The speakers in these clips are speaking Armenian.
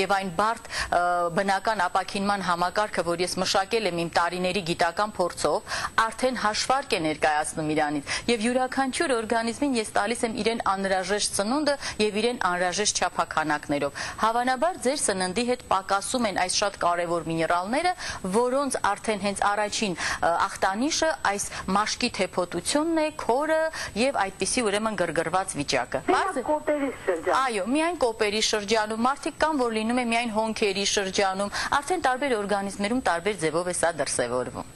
եւ այն բարդ բնական ապակինման համակարգը, որ ես մշակել եմ իմ տարիների գիտական փորձով, արդեն հաշվարկ է ներկայացնում իրանից եւ յուրաքանչյուր օրգանիզմին ես տալիս եմ իրեն անհրաժեշտ ծնունդը եւ իրեն անհրաժեշտ չափականակներով։ Հավանաբար ձեր սննդի հետ պակասում են այս շատ կարևոր միներալները, որոնց արդեն հենց առաջին ախտանիշը այս մաշկի թեփոտությունն է, քորը եւ այդպիսի ուրեմն գրգռված վիճակը։ Այո, միայն կոպերի շրջանում, մարդիկ կան, որ լինում է միայն հոնքերի շրջանում, արդեն տարբեր օրգանիզմներում տարբեր ձևով է սա դրսևորվում։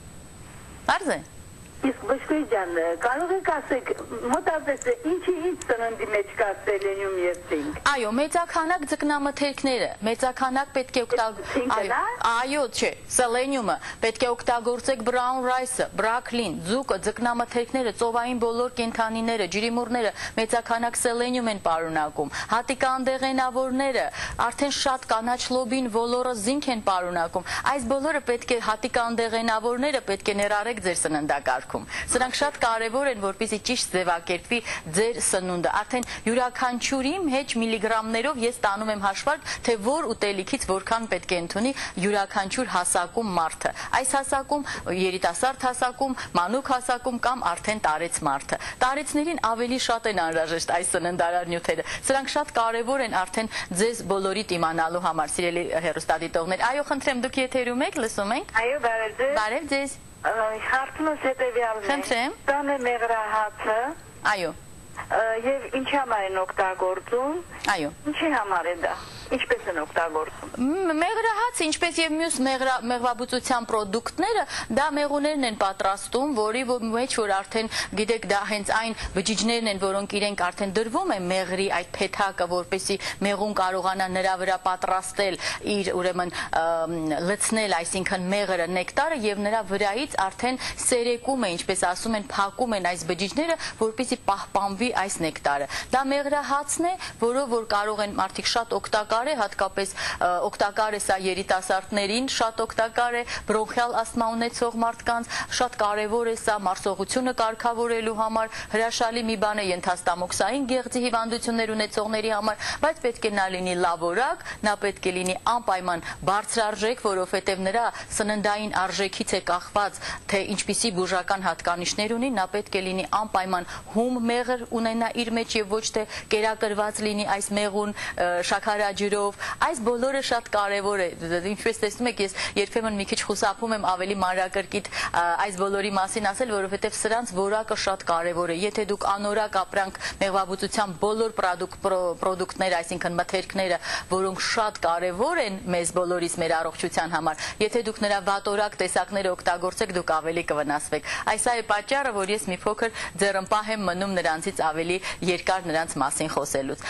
Բարձ է։ Իսկ Բժշկուհի ջան, կարող եք ասեք, մոտավորապես ինչի սննդի մեջ կա սելենիում եւ ցինկ։ Այո, մեծաքանակ ձկնամթերքները, մեծաքանակ պետք է օգտագործել։ Այո, չէ, սելենիումը պետք է օգտագործեք բրաուն ռայսը, բրոկլին, ձուկը, ձկնամթերքները, ծովային բոլոր կենդանիները, ջրիմուռները մեծաքանակ սելենիում են պարունակում։ Հատիկանդեղենավորները, արդեն շատ կանաչ լոբին, ոլորը, զինք են պարունակում։ Այս բոլորը պետք է հատիկանդեղենավորները պետք է ներառեք ձեր սննդակարգ։ Սրանք շատ կարևոր են, որպեսզի ճիշտ ձևակերպվի ձեր սնունդը։ Արդեն յուրաքանչյուրի մեջ միլիգրամներով ես տանում եմ հաշվարկ, թե որ ուտելիքից որքան պետք է ընդունի յուրաքանչյուր հասակում մարդը։ Այս հասակում երիտասարդ հասակում, մանուկ հասակում կամ արդեն տարեց մարդը։ Տարեցներին ավելի շատ են անհրաժեշտ այս սննդարար նյութերը։ Սրանք շատ կարևոր են արդեն ձեզ բոլորիդ իմանալու համար, սիրելի հեռուստադիտողներ։ Այո, խնդրեմ, դուք եթերում եք, լսում ենք։ Այո, բարև ձեզ։ Բարև ձեզ։ Հարցումս հետևյալն է։ Խնդրեմ։ Տան է մեղրահացը։ Այո։ Եվ ինչի համար են օգտագործում։ Այո։ Ինչի համար է դա։ Ինչպես են օգտագործում։ Մեղրահացը, ինչպես եւ մյուս մեղվաբուծության պրոդուկտները, դա մեղուներն են պատրաստում, որի մեջ որ արդեն գիտեք, դա հենց այն բջիջներն են, որոնք իրենք արդեն դրվում են մեղրի այդ փեթակը, որպեսզի մեղուն կարողանա նրա վրա պատրաստել իր ուրեմն լցնել, այսինքն մեղրը, նեկտարը եւ նրա վրայից արդեն սերեկում է, ինչպես ասում են, փակում են այս բջիջները, որպեսզի պահպանվի այս նեկտարը։ Դա մեղրահացն է, որով որ կարող են մարդիկ շատ օգտակար է, հատկապես օգտակար է սա երիտասարդներին, շատ օգտակար է բրոնխիալ ասթմա ունեցող մարդկանց, շատ կարևոր է սա մարսողությունը կարգավորելու համար, հրաշալի մի բան է ենթաստամոքսային գեղձի հիվանդություններ ունեցողների համար, բայց պետք է նա լինի լավորակ, նա պետք է լինի անպայման բարձրարժեք, որովհետև նրա սննդային արժեքից է կախված, թե ինչպիսի բուժական հատկանիշներ ունի, նա պետք է լինի անպայման հում մեղր ունենա իր մեջ եւ ոչ թե կերակրված լինի այս մեղուն շաքարաջրով, այս բոլորը շատ կարևոր է, ինչպես տեսնում եք, ես երբեմն մի քիչ խուսափում եմ ավելի մանրակրկիտ այս բոլորի մասին ասել, որովհետև սրանց որակը շատ կարևոր է, եթե դուք անորակ ապրանք մեղվաբուծության բոլոր պրոդուկտները, այսինքն մթերքները, որոնք շատ կարևոր են մեզ բոլորիս մեր առողջության համար, եթե դուք նրա վատորակ տեսակները օգտագործեք, դուք ավելի կվնասվեք։ Այս է պատճառը, որ ես մի փոքր ձեռնպահ եմ մնում նրանցից ավելի երկար նրանց մասին խոսելուց։